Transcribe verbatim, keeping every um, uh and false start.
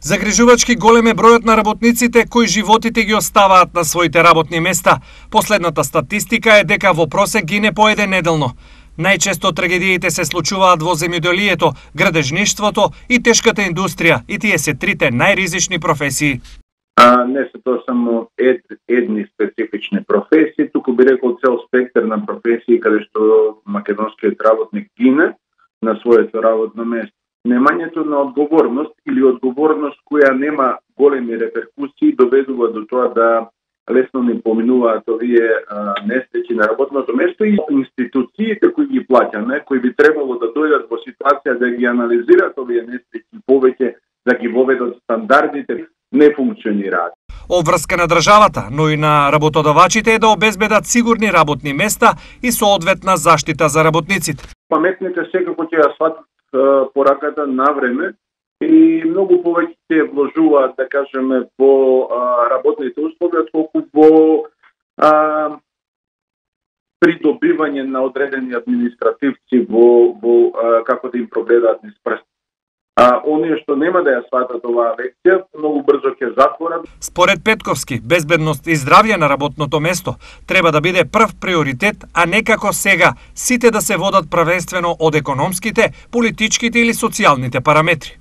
Загрижувачки голем е бројот на работниците кои животите ги оставаат на своите работни места. Последната статистика е дека во просек гине по еден неделно. Најчесто трагедиите се случуваат во земјоделието, градежништвото и тешката индустрија, и тие се трите најризични професии. А не се тоа само ед, едни специфични професии, туку би рекол цел спектар на професии каде што македонскиот работник гине на своето работно место. Немањето на одговорност или одговорност која нема големи реперкусии доведува до тоа да лесно не поминуваат овие несреќи на работното место и институциите кои ги плаќаме, кои би требало да дојдат во ситуација да ги анализират овие несреќи повеќе, да ги воведат стандардите, не функционираат. Обврска на државата, но и на работодавачите е да обезбедат сигурни работни места и соодветна заштита за работниците. Паметните секако ќе ја сватат пораката на време и многу повеќе се вложуваат, да кажеме, во работните услови, отколку во а, придобивање на одредени административци во, во а, како да им прогледаат низ прст. А оние што нема да ја сватат оваа лекција, многу брзо ќе затворат. Според Петковски, безбедност и здравје на работното место треба да биде прв приоритет, а не како сега, сите да се водат првенствено од економските, политичките или социјалните параметри.